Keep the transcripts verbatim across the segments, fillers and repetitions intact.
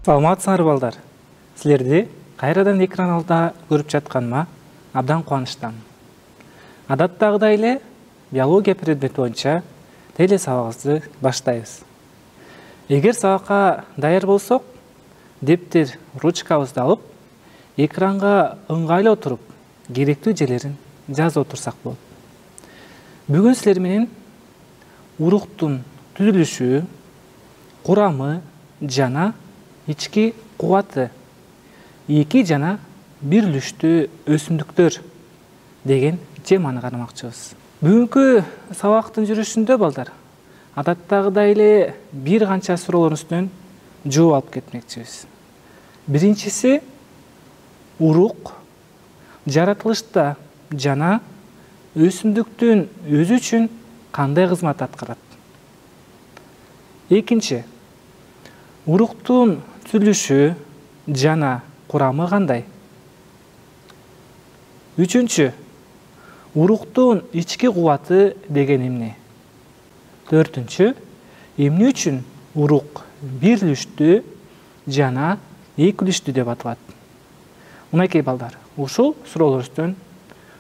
Саламатсыңар балдар. Силерди кайрадан экран алдында көрүп жатканыма абдан кубанычтамын. Адаттагыдай эле биология предмети боюнча теле сабагыбызды баштайбыз. Эгер сабакка даяр болсок, дептер, ручкабызды алып, экранга ыңгайлуу туруп, керектүү жерлерин жазып отурсак болот. Бүгүн силер менен уруктун түзүлүшү, курамы жана ички кубаты, эки жана бирилиштүү өсүмдүктөр деген теманы карамакчыбыз. Бүгүнкү сабактын жүрүшүндө балдар, адаттагыдай эле бир канча суроолордун үстүнөн жооп алып кетмекчибиз. Биринчиси урук жаратылышта жана өсүмдүктүн өзү үчүн кандай кызмат аткарат? Экинчи, уруктун түзүлүшү жана курамы кандай? Үчүнчү, уруктун ички кубаты деген эмне? Төртүнчү, эмне үчүн урук бирилиштүү жана экилиштүү деп аталат? Мынакей балдар, ушул суроолор үстүнөн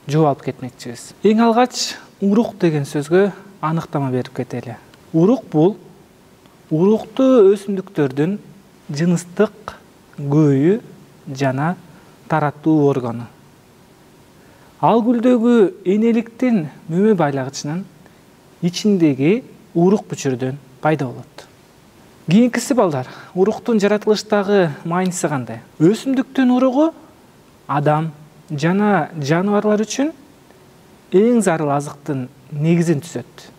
жооп алып кетмекчибиз. Эң алгач урук деген сөзгө аныктама берип кетели. Урук бул уруктуу өсүмдүктөрдүн жыныстык көөү жана тараттуу органы. Ал гүлдөгү энеликтин мөмө байлагычынын ичиндеги урук бүчүрдөн пайда болот. Кийинкиси балдар, уруктун жаратылыштагы мааниси кандай? Өсүмдүктүн уругу адам жана жаныбарлар үчүн эң зарыл азыктын негизин түзөт.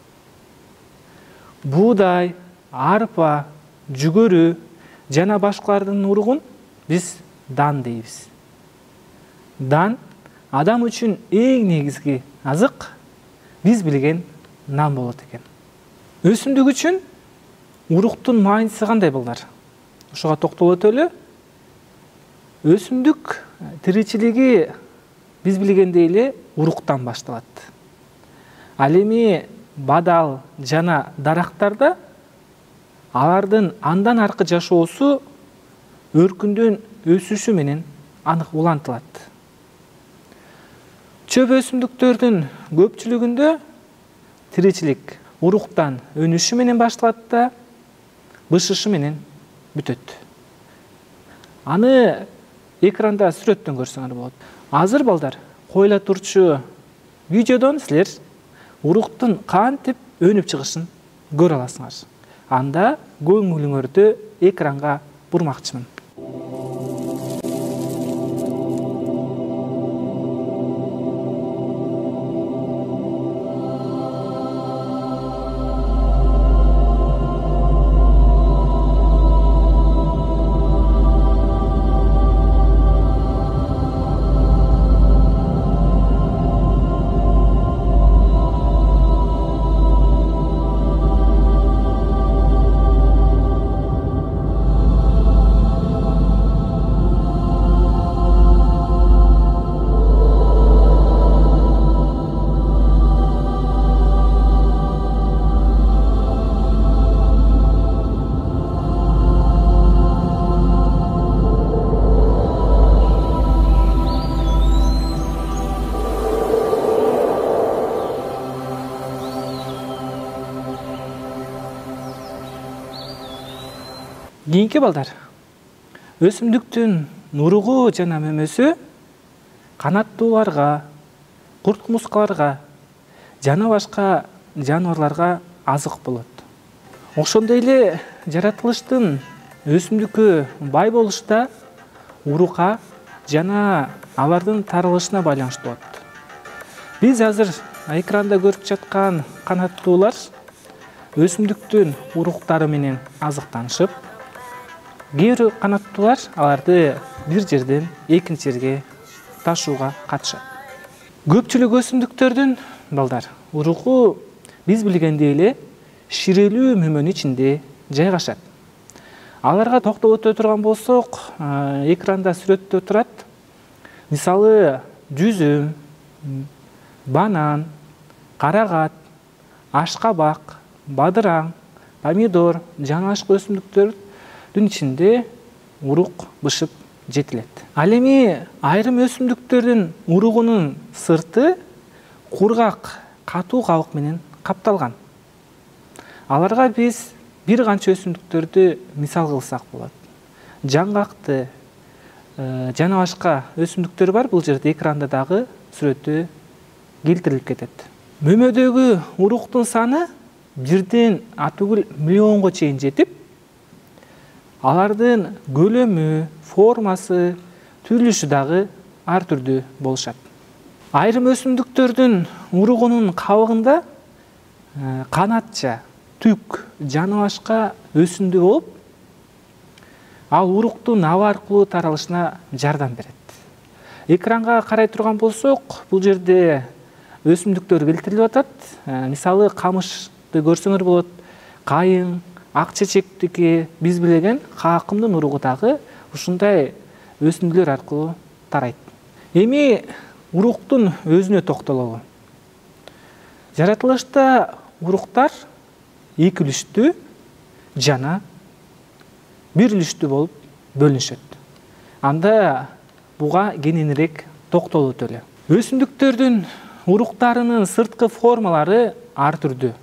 Буудай, арпа, жүгөрү жана башкалардын уругун биз дан дейбиз. Дан адам үчүн эң негизги азык, биз билген нан болот экен. Өсүмдүк үчүн уруктун мааниси кандай балдар? Ошого токтоло өтөлү. Өсүмдүк тиричилиги биз билгендей эле уруктан башталат. Ал эми бадал жана дарактарда алардын андан аркы жашоосу өркүндөн өсүшү менен анык улантылат. Чөп өсүмдүктөрдүн көпчүлүгүндө тиричилик уруктан өнүшү менен башталат да бышышы менен бүтөт. Аны экранда сүрөттөн көрсөңөр болот. Азыр балдар, коюла турчу видеодон силер уруктун кантип өнүп чыгышын көрө аласыңар. Анда көңүлүңөрдү экранга бурмакчымын. Кийинки балдар, өсүмдүктүн уругу жана мөмөсү канаттууларга, курт-кумурскаларга жана башка жаныбарларга азык болот. Ошондой эле жаратылыштын өсүмдүккө бай болушу да урукка жана алардын таралышына байланыштуу болот. Биз азыр экранда көрүп жаткан канаттуулар өсүмдүктүн уруктары менен азыктанышып, кээ бир канаттуулар аларды бир жерден экинчи жерге ташууга катышат. Көпчүлүк өсүмдүктөрдүн балдар уругу биз билгендей эле ширелүү мөмөнүн ичинде жайгашат. Аларга токтолуп өтө турган болсок, экранда сүрөттө турат. Мисалы, жүзүм, банан, карагат, ашкабак, бадыраң, помидор жана башка өсүмдүктөрдүн ичинде урук бышып жетилет. Ал эми айрым өсүмдүктөрдүн уругунун сырты кургак, катуу кабык менен капталган. Аларга биз бир канча өсүмдүктөрдү мисал кылсак болот. Жаңгакты жана башка өсүмдүктөр бар. Бул жерде экранда дагы сүрөтү келтирилип кетет. Мөмөдөгү уруктун саны бирден атүгүл миллионго чейин жетип, алардын көлөмү, формасы, түзүлүшү дагы ар түрдүү болушат. Айрым өсүмдүктөрдүн уругунун кабыгында канатча, түк жана башка өсүндү болуп, ал уруктун аба аркылуу таралышына жардам берет. Экранга карай турган болсок, бул жерде өсүмдүктөр келтирилип атат. Мисалы, камышты көрсөңөр болот, кайың, ак чечектики, биз билген каакымдын уругу дагы ушундай өсүндүлөр аркылуу тарайт. Эми уруктун өзүнө токтололу. Жаратылышта уруктар эки үлүштүү жана бир үлүштүү болуп бөлүнүшөт. Анда буга кененирээк токтолуп өтөлү. Өсүмдүктөрдүн уруктарынын сырткы формалары ар түрдүү.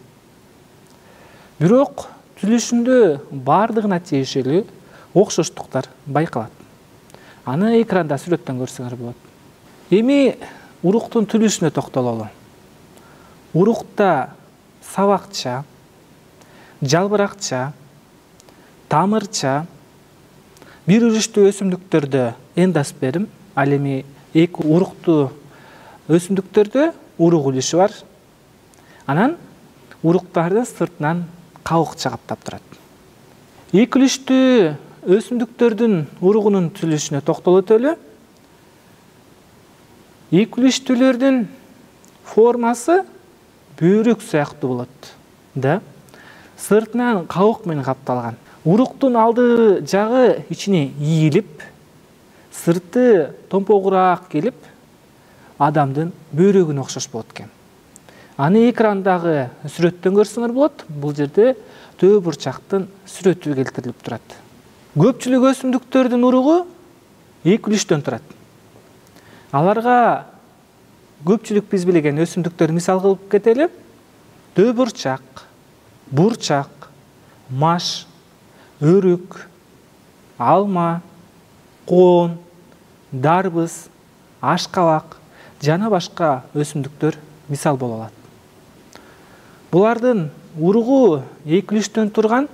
Бирок түзүлүшүндө бардыгына тиешелүү окшоштуктар байкалат. Аны экранда сүрөттөн көрсөңөр болот. Эми уруктун түзүлүшүнө токтололу. Урукта сабакча, жалбыракча, тамырча, бир үлүштүү өсүмдүктөрдө эндосперм, ал эми эки уруктуу өсүмдүктөрдө урук үлүшү бар. Анан уруктардын сыртынан кабыкча каптап турат. Эки үлүштүү өсүмдүктөрдүн уругунун түзүлүшүнө токтолуп өтөлү. Эки үлүштүүлөрдүн формасы бөйрөк сыяктуу болот да, сыртынан кабык менен капталган. Уруктун алды жагы ичине ийилип, сырты томпогураак келип, адамдын бөйрөгүнө окшош болот экен. Аны экрандагы сүрөттөн көрсөңөр болот. Бул жерде төө бурчактын сүрөтү келтирилип турат. Көпчүлүк өсүмдүктөрдүн уругу эки үлүштөн турат. Аларга көпчүлүк биз билген өсүмдүктөр мисал кылып кетели. Төө бурчак, бурчак, маш, өрүк, алма, коон, дарбыз, ашкабак жана башка өсүмдүктөр мисал боло алат. Булардын уругу эки үлүштөн турган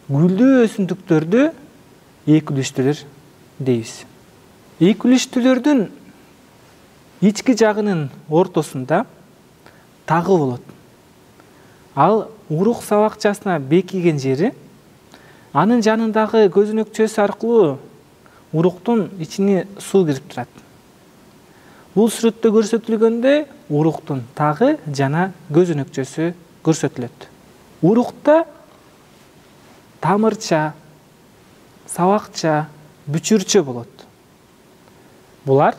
гүлдүү өсүмдүктөрдү эки үлүштүүлөр дейбиз. Эки үлүштүүлөрдүн ички жагынын ортосунда тагы болот. Ал урук сабакчасына бекиген жери, анын жанындагы көзөнөкчөсү аркылуу уруктун ичине суу кирип турат. Бул сүрөттө көрсөтүлгөндөй уруктун тагы жана көзөнөкчөсү көрсөтүлөт. Урукта тамырча, сабакча, бүчүрчө болот. Булар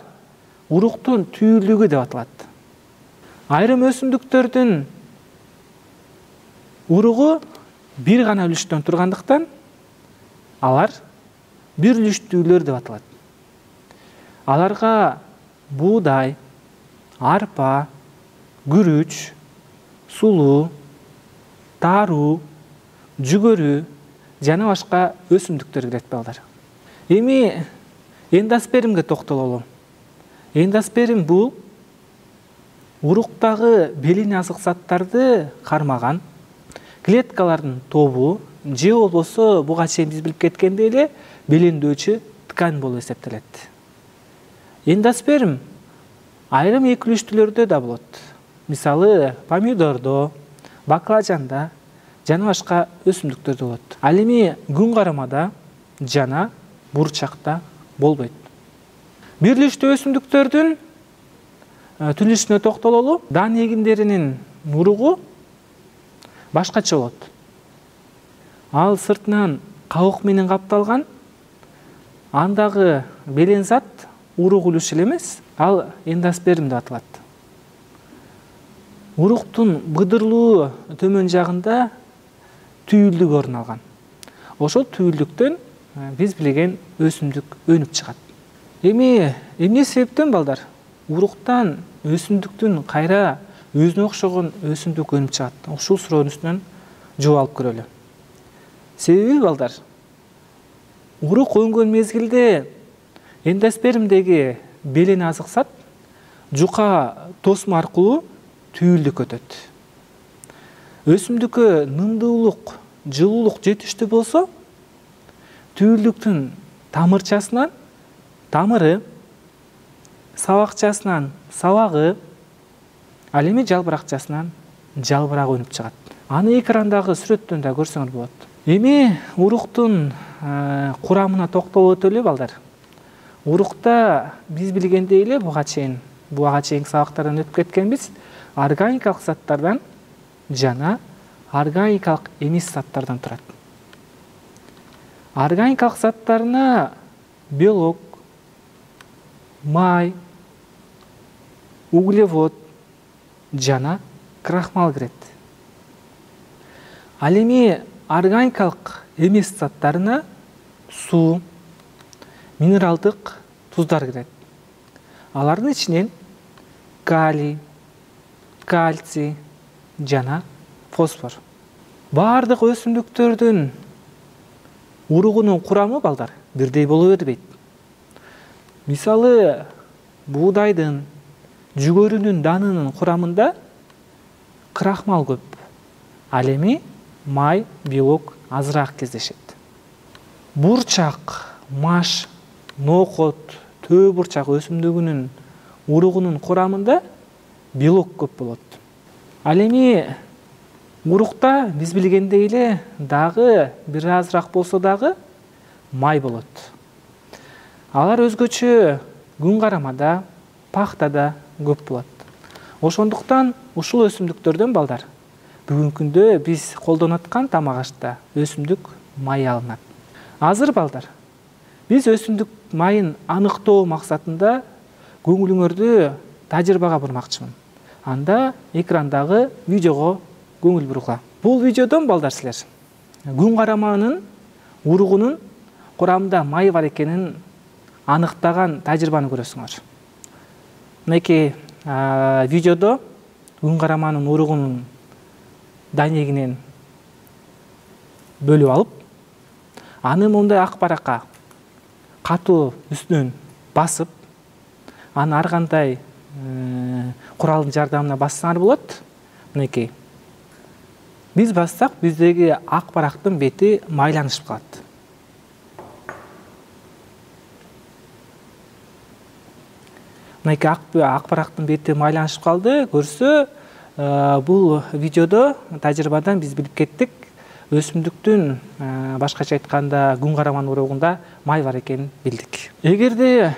уруктун түйүлүгү деп аталат. Айрым өсүмдүктөрдүн уругу бир гана үлүштөн тургандыктан алар бир үлүштүүлөр деп аталат. Аларга буудай, арпа, күрүч, сулуу, таруу, жүгөрү жана башка өсүмдүктөр кирет балдар. Эми эндоспермге токтололу. Эндосперм бул уруктагы белине азык заттарды кармаган клеткалардын тобу, же болбосо буга чейин биз билип кеткендей эле белемдөөчү ткань болуп эсептелет. Эндосперм айрым эки үлүштүүлөрдө да болот. Мисалы, помидордо, баклажанда жана башка өсүмдүктөрдө болот. Ал эми күн карамада жана бурчакта болбойт. Бир үлүштүү өсүмдүктөрдүн түзүлүшүнө токтололу. Дан эгиндеринин уругу башкача болот. Ал сыртынан кабык менен капталган. Андагы белең зат урук үлүшү эле эмес, ал эндосперм деп аталат. Уруктун быдырлуу төмөн жагында түйүлдүк орун алган. Ошол түйүлдүктөн биз билген өсүмдүк өнүп чыгат. Эми эмне себептен балдар уруктан өсүмдүктүн кайра өзүнө окшогон өсүмдүк өнүп чыгат? Ушул суроонун үстүнөн жооп алып көрөлү. Себеби балдар урук өнгөн мезгилде эндоспермдеги белени азыксат жука тосмо аркылуу түйүлдүккө өтөт. Өсүмдүккө нымдуулук, жылуулук жетиштүү болсо, түйүлдүктүн тамырчасынан тамыры, сабакчасынан сабагы, ал эми жалбыракчасынан жалбырагы өнүп чыгат. Аны экрандагы сүрөттөн да көрсөңөр болот. Эми уруктун курамына токтолуп өтөлү балдар. Урукта биз билгендей эле буга чейин буга чейинки сабактардан өтүп кеткенбиз, органикалык заттардан жана органикалык эмес заттардан турат. Органикалык заттарына белок, май, углевод жана крахмал кирет. Ал эми органикалык эмес заттарына суу, минералдык туздар кирет. Алардын ичинен калий, кальций жана фосфор. Бардык өсүмдүктөрдүн уругунун курамы балдар бирдей боло бербейт. Мисалы, буудайдын, жүгөрүнүн данынын курамында крахмал көп. Ал эми май, белок азыраак кездешет. Бурчак, маш, ноокот, төө бурчак өсүмдүгүнүн уругунун курамында белок көп болот. Ал эми урукта биз билгендей эле дагы бир азыраак болсо дагы май болот. Алар өзгөчө күн карамада, пахтада көп болот. Ошондуктан ушул өсүмдүктөрдөн балдар бүгүнкү күндө биз колдонуп аткан тамак ашта өсүмдүк майы алынат. Азыр балдар биз өсүмдүк майын аныктоо максатында көңүлүңөрдү тажрыйбага бурмакчымын. Анда экрандагы видеого көңүл бургула. Бул видеодон балдар силер күн караманын уругунун курамында май бар экенин аныктаган тажрыйбаны көрөсүңөр. Мынакей видеодо күн караманын уругунун данегинен бөлүп алып, аны мондай ак баракка катуу үстүнөн басып, аны ар кандай куралдын жардамына бассаңар болот. Мынакей. Биз бассак, биздеги ак барактын бети майланышып калат. Мынакей ак барактын бети майланышып калды. Көрсө, бул видеодо тажрыйбадан биз билип кеттик. Өсүмдүктүн башкача айтканда күн караман уругунда май бар экенин билдик. Эгерде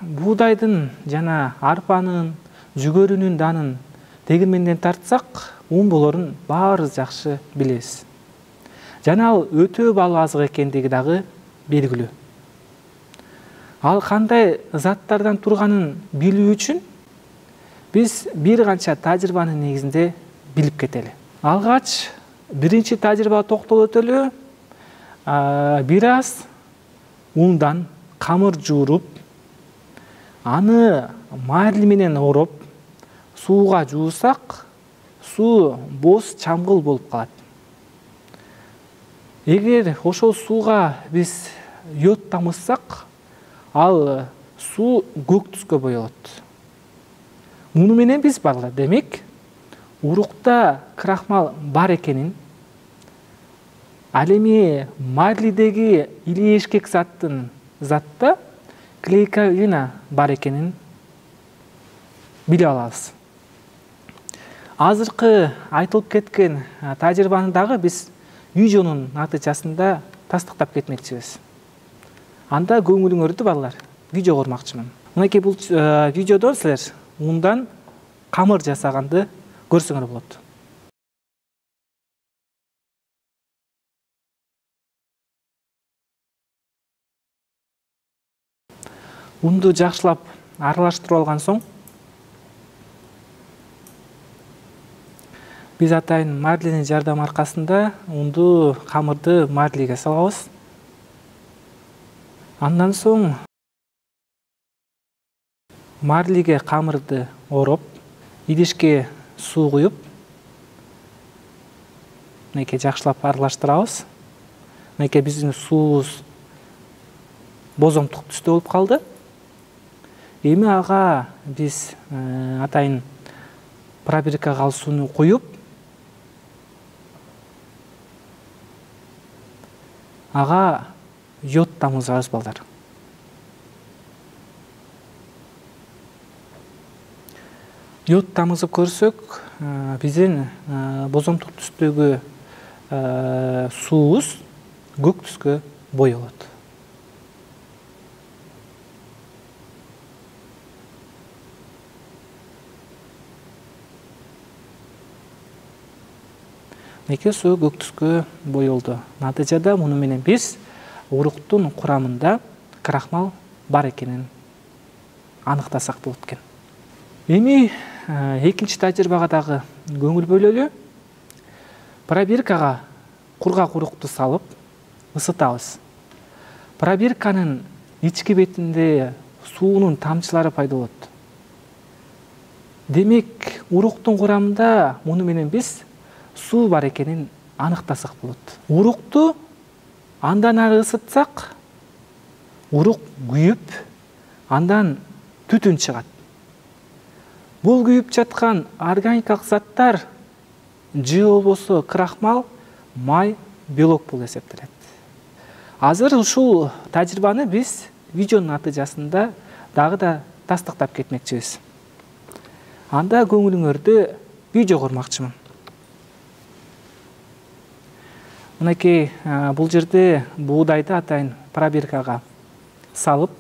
буудайдын жана арпанын, жүгөрүнүн данын тегирменден тартсак, ун болорун баарыбыз жакшы билебиз. Жана ал өтө баалуу азык экендиги дагы белгилүү. Ал кандай заттардан турганын билүү үчүн биз бир канча тажрыйбанын негизинде билип кетели. Алгач биринчи тажрыйбага токтолуп өтөлү. Бир аз ундан камыр жууруп, аны марли менен ороп, сууга жуусак, суу боз чамгыл болуп калат. Эгер ошол сууга биз йод тамызсак, ал суу көк түскө боелот. Муну менен биз балдар демек урукта крахмал бар экенин, ал эми марлидеги илиешкек заттын затта клейковина бар экенин билип алабыз. Азыркы айтылып кеткен тажрыйбаны дагы биз видеонун натыйжасында тастыктап кетмекчибиз. Анда көңүлүңөрдү балдар видеого урмакчымын. Мынакей бул видеодон силер ундан камыр жасаганды көрсөңөр болот. Унду жакшылап аралаштырып алган соң биз атайын марлинин жардамы аркасында унду камырды марлиге салабыз. Андан соң марлиге камырды ороп, идишке суу куюп, мынакей жакшылап аралаштырабыз. Мынакей биздин суубуз бозомтук түстө болуп калды. Эми ага биз атайын пробиркага ал сууну куюп, ага йод тамызабыз балдар. Йод тамызып көрсөк, биздин бозомтук түстөгү суубуз көк түскө боёлот. Мынакей суу көк түскө боёлду. Натыйжада муну менен биз уруктун курамында крахмал бар экенин аныктасак болот экен. Эми экинчи тажрыйбага дагы көңүл бөлөлү. Пробиркага кургак урукту салып ысытабыз. Пробирканын ички бетинде суунун тамчылары пайда болот. Демек, уруктун курамында муну менен биз суу бар экенин аныктасак болот. Урукту андан ары ысытсак, урук күйүп, андан түтүн чыгат. Бул күйүп жаткан органикалык заттар же болбосо крахмал, май, белок болуп эсептелет. Азыр ушул тажрыйбаны биз видеонун натыйжасында дагы да тастыктап кетмекчибиз. Анда көңүлүңөрдү видеого урмакчымын. Мынакей бул жерде буудайды атайын пробиркага салып,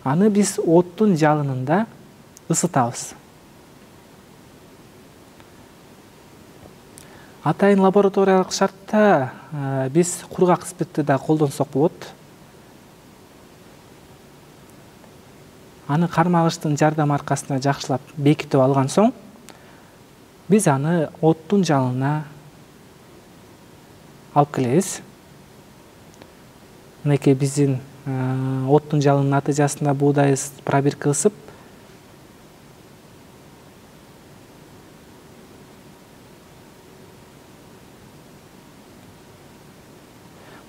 аны биз оттун жалынында ысытабыз. Атайын лабораториялык шартта биз кургак спиртти да колдонсок болот. Аны кармагычтын жардамы аркасында жакшылап бекитип алган соң, биз аны оттун жалынына алып келебиз. Мынакей биздин оттун жалынын натыйжасында буудай пробирка ысып,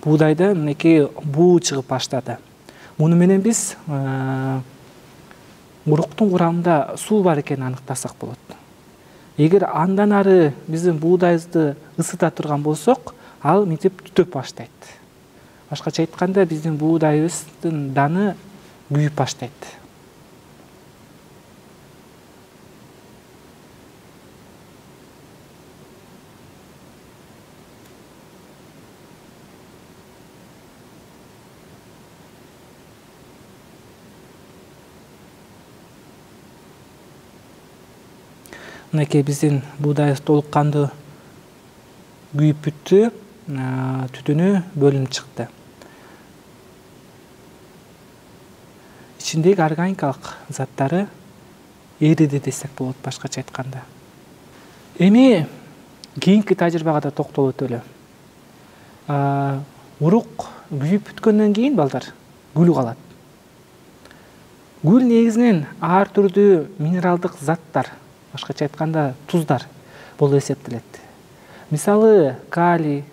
буудайда мынакей буу чыгып баштады. Муну менен биз уруктун курамында суу бар экенин аныктасак болот. Эгер андан ары биздин буудайыбызды ысыта турган болсок, ал мынтип түтөп баштайт. Башкача айтканда, биздин буудайыбыздын даны күйүп баштайт. Мынакей биздин буудайыбыз толук кандуу күйүп бүттү, түтүнү бөлүнүп чыкты. Ичиндеги органикалык заттары эриди десек болот, башкача айтканда. Эми кийинки тажрыйбага да токтолуп өтөлү. Урук күйүп бүткөндөн кийин балдар күл калат. Күл негизинен ар түрдүү минералдык заттар, башкача айтканда туздар болуп эсептелет. Мисалы, калий,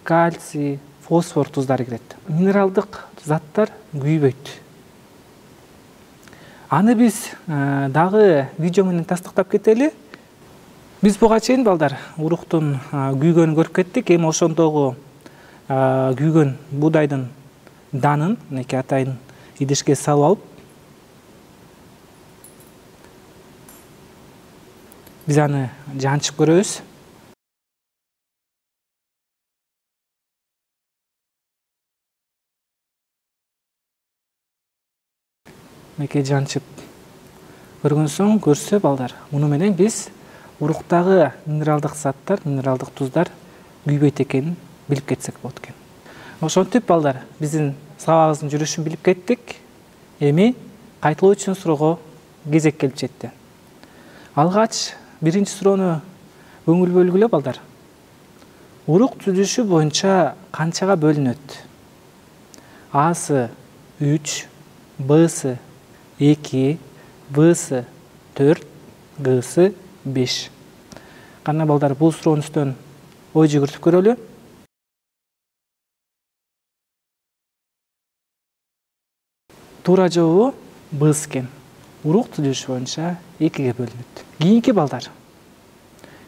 кальций, фосфор туздары кирет. Минералдык заттар күйбөйт. Аны биз дагы видео менен тастыктап кетели. Биз буга чейин балдар уруктун күйгөнүн көрүп кеттик. Эми ошондогу күйгөн буудайдын данын мынакей атайын идишке салып алып, биз аны жанчып көрөбүз. Мынакей жанчып көргөн соң, көрсө балдар, муну менен биз уруктагы минералдык заттар, минералдык туздар күйбөйт экенин билип кетсек болот экен. Ошентип балдар, биздин сабагыбыздын жүрүшүн билип кеттик. Эми кайталоо үчүн суроого кезек келип жетти. Алгач биринчи суроону көңүл бөлгүлө балдар. Урук түзүлүшү боюнча канчага бөлүнөт? Асы үч, Б-сы эки, В-сы төрт, Г-сы беш. Кана балдар, бул суроонун үстүнөн ой жүгүртүп көрөлү. Туура жообу Б-сы экен. Урук түзүлүшү боюнча экиге бөлүнөт. Кийинки балдар.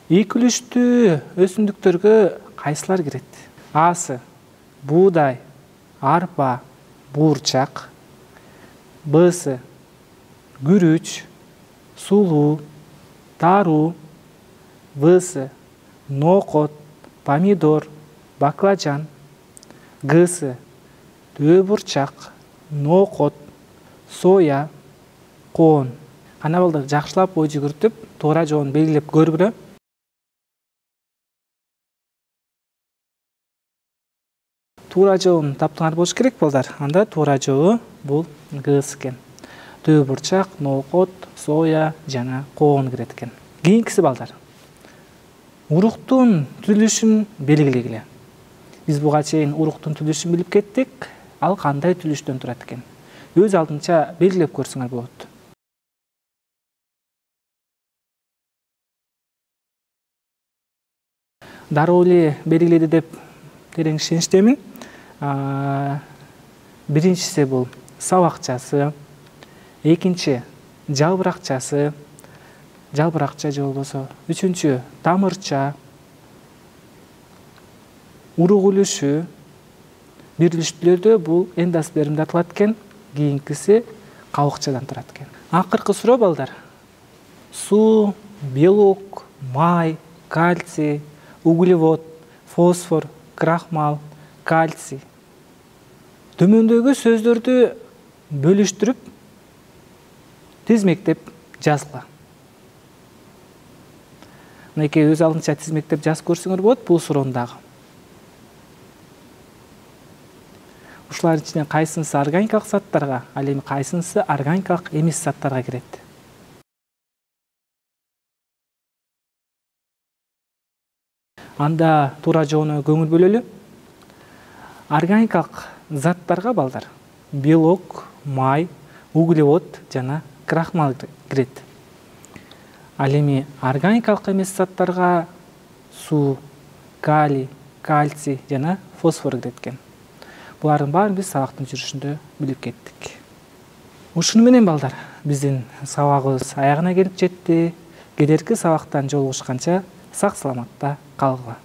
Ийкүлүштүү өсүмдүктөргө кайсылар кирет? А-сы буудай, арпа, буурчак. Б-сы күрүч, сулуу, таруу. В-сы нокот, помидор, баклажан. Г-сы төө бурчак, нокот, соя, коон. Кана балдар, жакшылап ой жүгүртүп, туура жообун белгилеп көргүлө. Туура жообун таптыңар болуш керек балдар. Анда туура жообу бул Г-сы экен. Төө бурчак, нокот, соя жана коон кирет экен. Кийинкиси балдар. Уруктун түзүлүшүн белгилегиле. Биз буга чейин уруктун түзүлүшүн билип кеттик. Ал кандай түзүлүштөн турат экен? Өз алдынча белгилеп көрсөңөр болот. Дароо эле белгиледи деп терең ишеничтемин. Биринчиси бул сабакчасы, экинчи жалбыракчасы, жалбыракча же болбосо, үчүнчү тамырча, урук үлүшү, бирилиштүүлөрдө бул эндосперм деп аталат экен. Кийинкиси кабыкчадан турат экен. Акыркы суроо балдар. Суу, белок, май, кальций, углевод, фосфор, крахмал, кальций. Төмөндөгү сөздөрдү бөлүштүрүп, тизмектеп жазгыла. Мынакей өз алдынча тизмектеп жазып көрсөңөр болот бул суроону дагы. Ушулардын ичинен кайсынысы органикалык заттарга, ал эми кайсынысы органикалык эмес заттарга кирет? Анда туура жообуна көңүл бөлөлү. Органикалык заттарга балдар белок, май, углевод жана крахмал кирет. Ал эми органикалык эмес заттарга суу, калий, кальций жана фосфор кирет экен. Булардын баарын биз сабактын жүрүшүндө билип кеттик. Ушуну менен балдар, биздин сабагыбыз аягына келип жетти. Келерки сабактан жолугушканча сак саламатта калгыла.